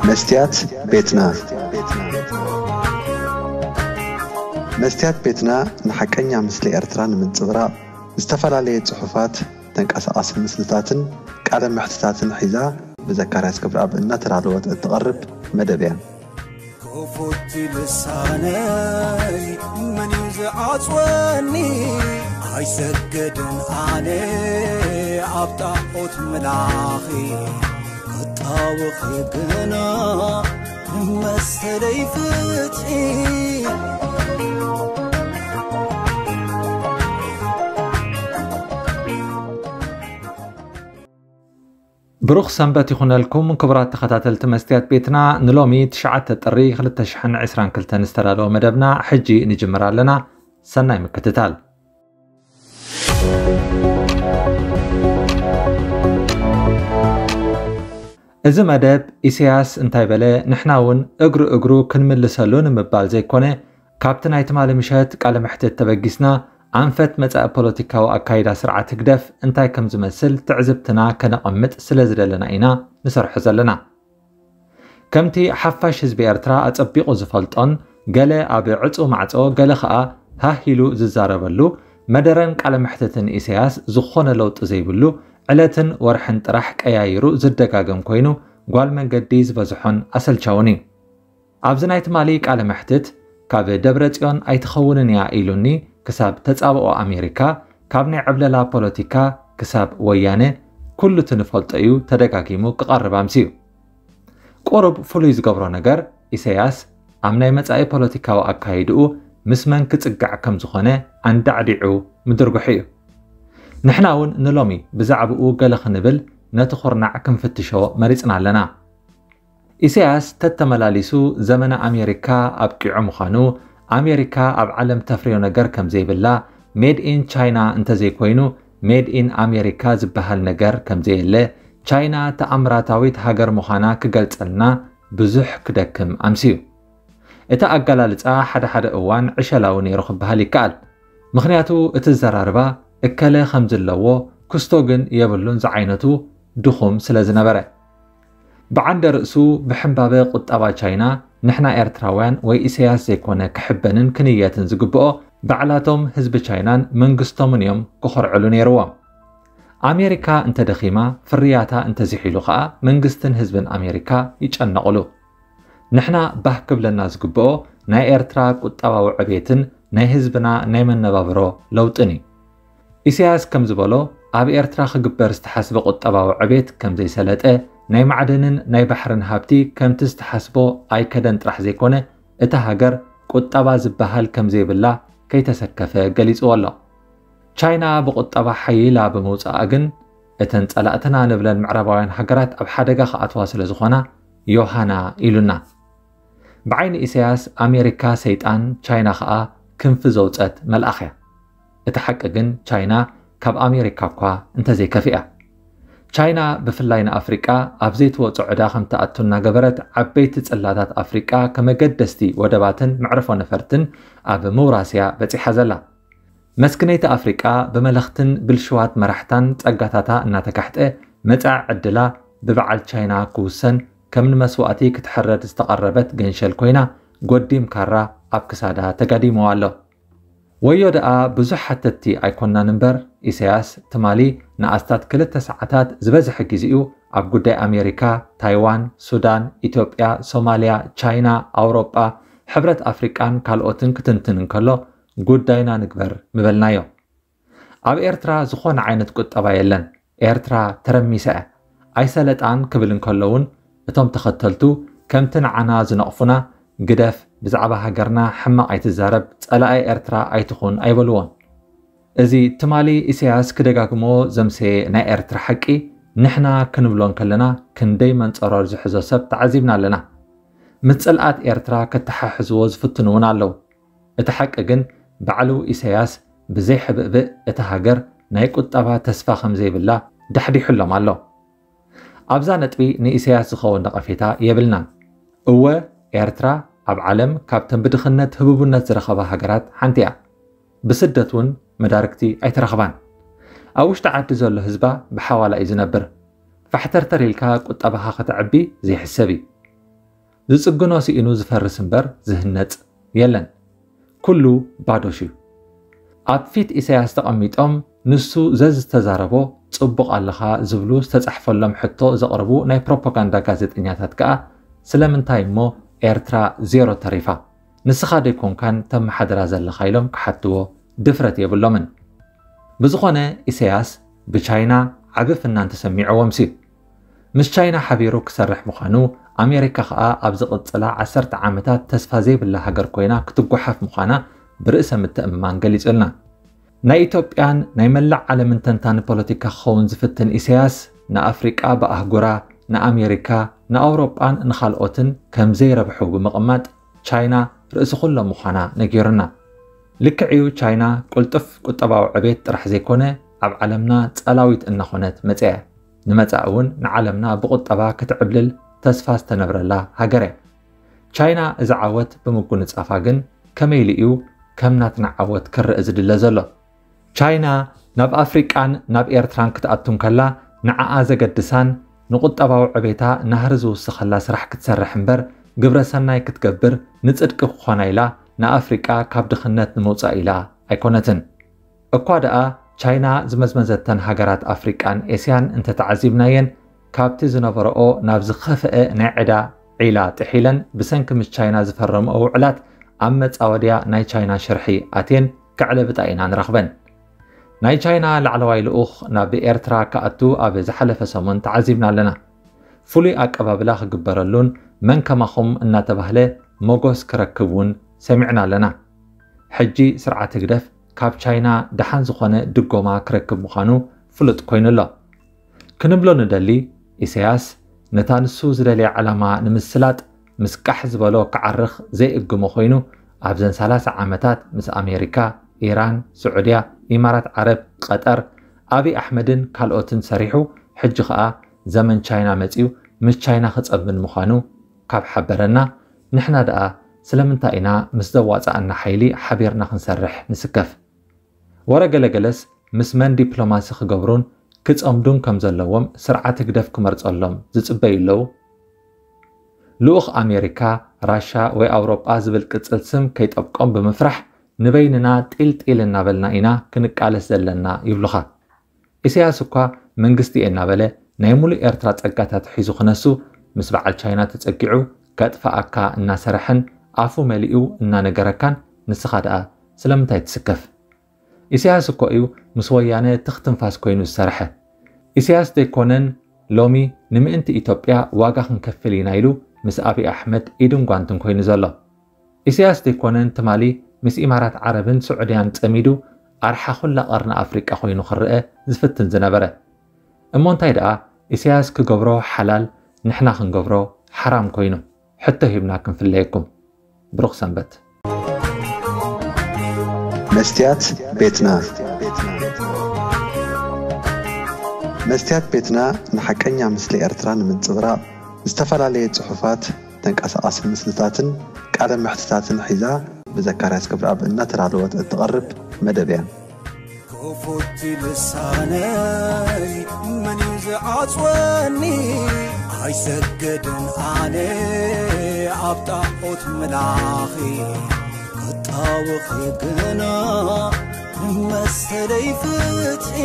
መስትያት ቤትና። መስትያት ቤትና ንሓቀኛ ምስሊ ኤርትራ ንምንጽብራቕ ዝተፈላለየ ጽሑፋት፣ ተንቀሳቓሲ ምስልታትን ቃለ መሕትታትን ሒዛ ብዘካርያስ ገብረኣብ እናተዳለወት እትቐርብ መደብ እያ። ክፉት ልሳነይ መን እዩ ዝዓጽወኒ? ኣይሰግድን ኣነ ኣብ ጣዖት ምላኺ፣ ክጣወኺ ግና መሰለይ ፍትሒ። ብሩኽ ሰንበት ይኹነልኩም ክቡራት ተኸታተልቲ መስትያት ቤትና። ንሎሚ ትሽዓተ ጥሪ ክልተ ሽሕን ዕስራን ክልተን ዝተዳለወ መደብና ሕጂ ንጅምር ኣለና። ሰናይ ምክትታል። እዚ መደብ ኢሳያስ እንታይ በለ፣ ንሕና እውን እግሩ እግሩ ክንምልሰሉ ንምባል ዘይኮነ፣ ካብቲ ናይ ትማሊ ምሸት ቃለ መሕትት ተበጊስና፣ ኣንፈት መጻኢ ፖለቲካዊ ኣካይዳ ስርዓት ህግደፍ እንታይ ከም ዝመስል ትዕዝብትና ከነቐምጥ ስለ ዝደለና ኢና ንሰርሖ ዘለና። ከምቲ ሓፋሽ ህዝቢ ኤርትራ ኣጸቢቑ ዝፈልጦን፣ ገለ ኣብ ዕጹው ማዕጾ፣ ገለ ኸኣ ሃህ ኢሉ ዝዛረበሉ፣ መደረን ቃለ መሕትትን ኢሳያስ ዝኾነ ለውጢ ዘይብሉ፣ ዕለትን ወርሕን ጥራሕ ቀያይሩ ዝደጋገም ኮይኑ፣ ጓል መንገዲ ዝበዝሖን ኣሰልቻውን እዩ። ኣብዚ ናይ ትማሊ ቃለ መሕትት፣ ካብ ደብረ ጽዮን ኣይትኸውንን እያ ኢሉኒ ክሳብ ተጻብኦ ኣሜሪካ፣ ካብ ናይ ዕብለላ ፖለቲካ ክሳብ ወያነ፣ ኩሉ እቲ ንፈልጦ እዩ ተደጋጊሙ ክቐርብ ኣምስዩ። ቁሩብ ፍሉይ ዝገብሮ ነገር፣ ኢሳያስ ኣብ ናይ መጻኢ ፖለቲካዊ ኣካይድኡ ምስ መን ክጽጋዕ ከም ዝኾነ ኣንዳዕዲዑ ምድርጉሑ እዩ። ንሕና እውን ንሎሚ ብዛዕባኡ ገለ ክንብል ነቲ ኩርናዕ ክንፍትሾ መሪጽና ኣለና። ኢሳያስ ተተመላሊሱ ዘመነ ኣሜሪካ ኣብቂዑ ምዃኑ፣ ኣሜሪካ ኣብ ዓለም ተፍርዮ ነገር ከም ዘይብላ፣ ሜድ ኢን ቻይና እንተዘይኮይኑ ሜድ ኢን ኣሜሪካ ዝበሃል ነገር ከም ዘየለ፣ ቻይና ተኣምራታዊት ሃገር ምዃና ክገልጸልና ብዙሕ ክደክም ኣምስዩ። እቲ ኣገላልጻ ሓደ ሓደ እዋን ዕሸላዊ ነይሩ ክበሃል ይከኣል። ምኽንያቱ እቲ ዘራርባ እከለ ከም ዝለዎ ክስቶ ግን የብሉን ዝዓይነቱ ድኹም ስለ ዝነበረ። ብዓንደ ርእሱ ብሕምባበ ቁጠባ ቻይና ንሕና ኤርትራውያን ወይ ኢሳያስ ዘይኮነ ክሕበንን ክንየትን ዝግብኦ ባዕላቶም ህዝቢ ቻይናን መንግስቶምን እዮም ክኾርዕሉ ነይርዎም። ኣሜሪካ እንተደኺማ፣ ፍርያታ እንተዝሒሉ ኸኣ መንግስትን ህዝብን ኣሜሪካ ይጨነቑሉ። ንሕና ባህ ክብለና ዝግብኦ ናይ ኤርትራ ቁጠባዊ ዕቤትን ናይ ህዝብና ናይ መነባብሮ ለውጥን እዩ። ኢሳያስ ከም ዝበሎ፣ ኣብ ኤርትራ ክግበር ዝተሓስበ ቁጠባዊ ዕቤት ከም ዘይሰለጠ፣ ናይ ማዕድንን ናይ ባሕርን ሃብቲ ከምቲ ዝተሓስቦ ኣይከደን ጥራሕ ዘይኮነ፣ እታ ሃገር ቁጠባ ዝበሃል ከም ዘይብላ ከይተሰከፈ ገሊጽዎ ኣሎ። ቻይና ብቁጠባ ሓይላ ብምውጻኣ ግን፣ እተን ጸላእትና ንብለን ምዕራባውያን ሃገራት ኣብ ሓደጋ ክኣትዋ ስለ ዝኾና፣ ዮሃና ኢሉና። ብዓይኒ ኢሳያስ ኣሜሪካ ሰይጣን፣ ቻይና ኸኣ ክንፊ ዘውጸት መልኣኽ እያ። እቲ ሓቂ ግን ቻይና ካብ ኣሜሪካ እኳ እንተዘይከፊኣ። ቻይና ብፍላይ ንኣፍሪቃ ኣብ ዘይትወጾ ዕዳ ከም ትኣቱ እናገበረት ዓበይቲ ጽላታት ኣፍሪቃ ከመገደስቲ ወደባትን መዕርፎ ነፈርትን ኣብ ምውራስ እያ በጺሓ ዘላ። መስክነይቲ ኣፍሪቃ ብመለኽትን ብልሽዋት መራሕታን ጸጋታታ እናተካሕጠ መጻኢ ዕድላ ብበዓል ቻይና ክውሰን ከም ንመስዋእቲ ክትሕረድ ዝተቐረበት ገንሸል ኮይና ጎዲም ካራ ኣብ ክሳዳ ተጋዲምዋ ኣሎ። ወዮ ደኣ ብዙሕ ሓተትቲ ኣይኮናን እምበር፣ ኢሳያስ ትማሊ ንኣስታት ክልተ ሰዓታት ዝበዝሐ ግዜኡ ኣብ ጉዳይ ኣሜሪካ፣ ታይዋን፣ ሱዳን፣ ኢትዮጵያ፣ ሶማልያ፣ ቻይና፣ ኣውሮጳ፣ ሕብረት ኣፍሪቃን ካልኦትን ክትንትን እንከሎ፣ ጉዳይና ንግበር ምበልናዮ። ኣብ ኤርትራ ዝኾነ ዓይነት ቁጠባ የለን። ኤርትራ ተረሚሳ እያ። ኣይሰለጣን ክብል እንከሎ እውን እቶም ተኸተልቱ ከምቲ ንዓና ዝነቕፉና፣ ግደፍ፣ ብዛዕባ ሃገርና ሕማቕ ኣይትዛረብ፣ ጸላኢ ኤርትራ ኣይትኹን ኣይበልዎን። እዚ ትማሊ ኢሳያስ ክደጋግሞ ዘምሰየ ናይ ኤርትራ ሓቂ ንሕና ክንብሎ እንከለና ክንደይ መንጸሮር ዝሕዞ ሰብ ተዓዚብና ኣለና። ምስ ጽልኣት ኤርትራ ከተሓሕዝዎ ዝፍትኑ እውን ኣለዉ። እቲ ሓቂ ግን ባዕሉ ኢሳያስ ብዘይ ሕብእብእ እታ ሃገር ናይ ቁጠባ ተስፋ ከም ዘይብላ ዳሕዲሑሎም ኣሎ። ኣብዛ ነጥቢ ንኢሳያስ ዝኸውን ነቐፌታ የብልናን። እወ፣ ኤርትራ ኣብ ዓለም ካብተን ብድኽነት ህቡብነት ዝረኸባ ሃገራት ሓንቲ እያ። ብስደት እውን መዳርግቲ ኣይተረኽባን። ኣብ ውሽጢ ዓዲ ዘሎ ህዝባ ብሓዋላ እዩ ዝነብር። ፋሕተርተር ኢልካ ቁጠባኻ ከተዕቢ ዘይሕሰብ እዩ። ዝጽግኖ ስኢኑ ዝፈርስ እምበር ዝህነጽ የለን። ኩሉ ባዶሽ እዩ። ኣብ ፊት ኢሳያስ ተቐሚጦም ንሱ ዘዝተዛረቦ ጽቡቕ ኣለኻ ዝብሉ ዝተጻሕፈሎም ሕቶ ዘቕርቡ ናይ ፕሮፓጋንዳ ጋዜጠኛታት ከኣ ስለምንታይ እሞ ኤርትራ ዜሮ ተሪፋ? ንስኻ ዶ ኣይኮንካን ተመሓድራ ዘለኻ ኢሎም ክሓትዎ ድፍረት የብሎምን። ብዝኾነ ኢሳያስ ብቻይና ዓቢ ፍናን ተሰሚዕዎም ሲ። ምስ ቻይና ሓቢሩ ክሰርሕ ምዃኑ ኣሜሪካ ከኣ ኣብ ዝቕጽላ ዓሰርተ ዓመታት ተስፋ ዘይብላ ሃገር ኮይና ክትጓሓፍ ምዃና ብርእሰ ምትእምማን ገሊጹልና። ናይ ኢትዮጵያን ናይ መላእ ዓለምን ተንታኒ ፖለቲካ ክኸውን ዝፍትን ኢሳያስ ንኣፍሪቃ ብኣህጉራ ንኣሜሪካ ንኣውሮጳን ንኻልኦትን ከም ዘይረብሑ ብምቕማጥ ቻይና ርእሲ ኩሎም ምዃና ነጊሩና። ልክዕዩ ቻይና ቅልጡፍ ቁጠባዊ ዕቤት ጥራሕ ዘይኮነ ኣብ ዓለምና ጸላዊት እናኾነት መጽያ። ንመጻኢ እውን ንዓለምና ብቁጠባ ክትዕብልል ተስፋ ዝተነብረላ ሃገር እያ። ቻይና እዚ ዓወት ብምጉንጻፋ ግን ከመይ ኢሉ እዩ ከም ናትና ዓወት ክረእ ዝድለ ዘሎ? ቻይና ናብ ኣፍሪቃን ናብ ኤርትራን ክትኣቱ እንከላ ንዓኣ ዘገድሳን ንቁጠባዊ ዕቤታ ናህሪ ዝውስኸላ ስራሕ ክትሰርሕ እምበር ግብረ ሰናይ ክትገብር ንጽድቂ ክኾና ኢላ ንኣፍሪቃ ካብ ድኽነት ንምውጻእ ኢላ ኣይኮነትን። እኳ ደኣ ቻይና ዝመዝመዘተን ሃገራት ኣፍሪቃን ኤስያን እንተተዓዚብናየን ካብቲ ዝነበረኦ ናብ ዝኸፍአ ናይ ዕዳ ዒላ ጥሒለን ብሰንኪ ምስ ቻይና ዝፈረምኦ ውዕላት ኣብ መጻወድያ ናይ ቻይና ሽርሒ ኣትየን ክዕለብጣ ኢና ንረኽበን። ናይ ቻይና ላዕለዋይ ልኡኽ ናብ ኤርትራ ክኣቱ ኣብ ዝሓለፈ ሰሙን ተዓዚብና ኣለና። ፍሉይ ኣቀባብላ ክግበረሉን መን ከማኹም እናተባህለ መጎስ ክረክብ እውን ሰሚዕና ኣለና። ሕጂ ስርዓት ህግደፍ ካብ ቻይና ደሓን ዝኾነ ድጎማ ክረክብ ምዃኑ ፍሉጥ ኮይኑ ኣሎ። ክንብሎ ንደሊ፣ ኢሳያስ ነታ ንሱ ዝደልያ ዕላማ ንምስላጥ ምስ ቃሕ ዝበሎ ክዓርኽ ዘይእግሞ ኮይኑ ኣብዘን ሰላሳ ዓመታት ምስ ኣሜሪካ፣ ኢራን፣ ስዑድያ፣ ኢማራት ዓረብ፣ ቀጠር፣ ኣብይ ኣሕመድን ካልኦትን ሰሪሑ ሕጂ ኸኣ ዘመን ቻይና መጺኡ ምስ ቻይና ክጸምን ምዃኑ ካብ ሓበረና ንሕና ደኣ ስለምንታይ ኢና ምስ ዘዋጽኣና ሓይሊ ሓቢርና ክንሰርሕ ንስከፍ? ወረ ገለገለስ ምስ መን ዲፕሎማሲ ክገብሩን ክጸምዱን ከም ዘለዎም ስርዓት ህግደፍ ክመርጸሎም ዝጽበዩ ኣለዉ። ልኡኽ ኣሜሪካ፣ ራሻ ወይ ኣውሮጳ ዝብል ቅጽል ስም ከይጠብቆም ብምፍራሕ ንበይንና ጢልጢል እናበልና ኢና ክንቃለስ ዘለና ይብሉኻ። ኢሳያስ እኳ መንግስቲ እየ እናበለ ናይ ሙሉእ ኤርትራ ጸጋታት ሒዙ ክነሱ ምስ በዓል ቻይና ተጸጊዑ ከጥፍኣካ እናሰረሐን ኣፉ መሊኡ እናነገረካን ንስኻ ደኣ ስለምንታይ ትስከፍ? ኢሳያስ እኮ እዩ ምስ ወያነ ትኽ ትንፋስ ኮይኑ ዝሰረሐ። ኢሳያስ ዘይኮነን ሎሚ ንምእንቲ ኢትዮጵያ ዋጋ ክንከፍል ኢና ኢሉ ምስ ኣብይ ኣሕመድ ኢድን ጓንትን ኮይኑ ዘሎ። ኢሳያስ ዘይኮነን ትማሊ ምስ ኢማራት ዓረብን ስዑድያን ጸሚዱ ኣርሓ ኩላ ቀርኒ ኣፍሪቃ ኮይኑ ክረአ ዝፍትን ዝነበረ። እሞ እንታይ ደኣ ኢሳያስ ክገብሮ ሓላል ንሕና ክንገብሮ ሓራም ኮይኑ? ሕቶ ሂብና ክንፍለየኩም። ብሩኽ ሰንበት። መስትያት ቤትና። መስትያት ቤትና ንሓቀኛ ምስሊ ኤርትራ ንምንጽብራቕ ዝተፈላለየ ጽሑፋት፣ ተንቀሳቓሲ ምስልታትን ቃለ መሕትታትን ሒዛ ብዘካርያስ ክብረኣብ እናተዳለወት እትቐርብ መደብ እያ። ክፉት ልሳነይ መን እዩ ዝዓጽወኒ? ኣይሰገድን ኣነ ኣብ ጣዖት ምላኺ ክጣወኺ ግና መሰለይ ፍትሒ